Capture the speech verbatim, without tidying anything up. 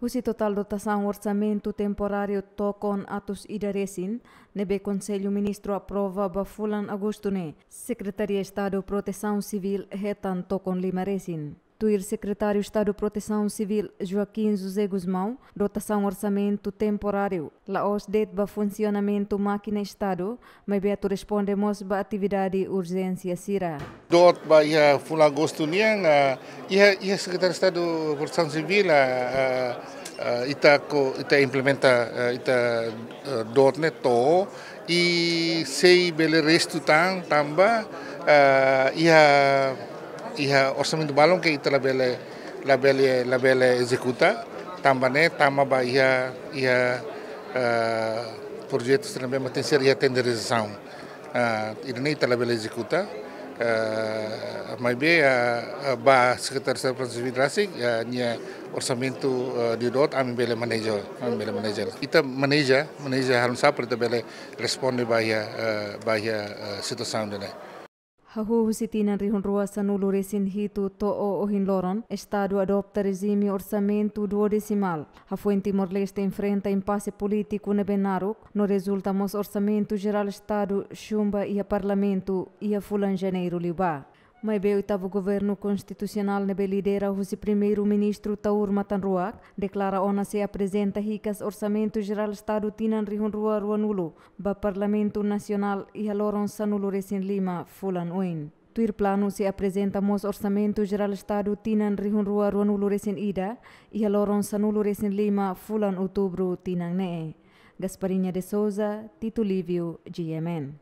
Husi totál dotasaun orsamentu temporáriu tokon atus ida resin, ne'ebé Konsellu Ministru aprova ba fulan Agostu ne'e, Sekretaria Estadu Protesaun Sivíl hetan tokon lima resin. Tuir Sekretáriu Estadu Protesaun Sivíl, Joaquim José Gusmão, dotasaun orsamentu temporáriu la'ós de'it ba funsionamentu mákina Estadu, maibé atu responde mós ba atividade urjénsia sira. Doot ba iha fulan Agostu nian, ah, iha, iha Sekretáriu Estadu Protesaun Sivíl, ah, ah, ah, ita ko, ita implementa, ah, ita, ah, doot ne'e to'o, i sei bele restu tan tanba, ah, iha, iha orsamentu balun ke ita labele, labele, labele ezekuta, tanba ne'e tama ba iha, iha, ah, projetu sira ne'ebé mak tenke ser iha tenderizasaun. Ah, ida-ne'e ita labele ezekuta, ah, maibé, ah, ah, ba Sekretáriu Estadu Protesaun Sivíl rasik, ah, nia orsamentu, ah, ida doot ami bele maneja, ami bele maneja. Ita maneja, maneja halo saida para ita bele responde ba iha, ah, ba iha, ah, situasaun ida-ne'e. Hahú husi tinan rihun rua sanulu resin hitu to'o ohin loron, Estadu adota rejime orsamentu duodesimál. Hafoin Timor-Leste enfrenta impase polítiku ne'ebé naruk, no rezulta mós Orsamentu Jerál Estadu xumba iha Parlamentu iha fulan Janeiru liubá. Maibé oitavu Governu Konstitusionál ne'ebé lidera husi Primeiru-Ministru Taur Matan Ruak, deklara ona sei aprezenta hikas Orsamentu Jerál Estadu tinan rihun rua ruanulu ba Parlamentu Nasionál iha loron sanulu resin lima fulan oin. Tuir planu sei aprezenta mós Orsamentu Jerál Estadu tinan rihun rua ruanulu resin ida iha loron sanulu resin lima fulan Outubru tinan ne'e. Gasparinha de Souza, Tito Lívio, G M N.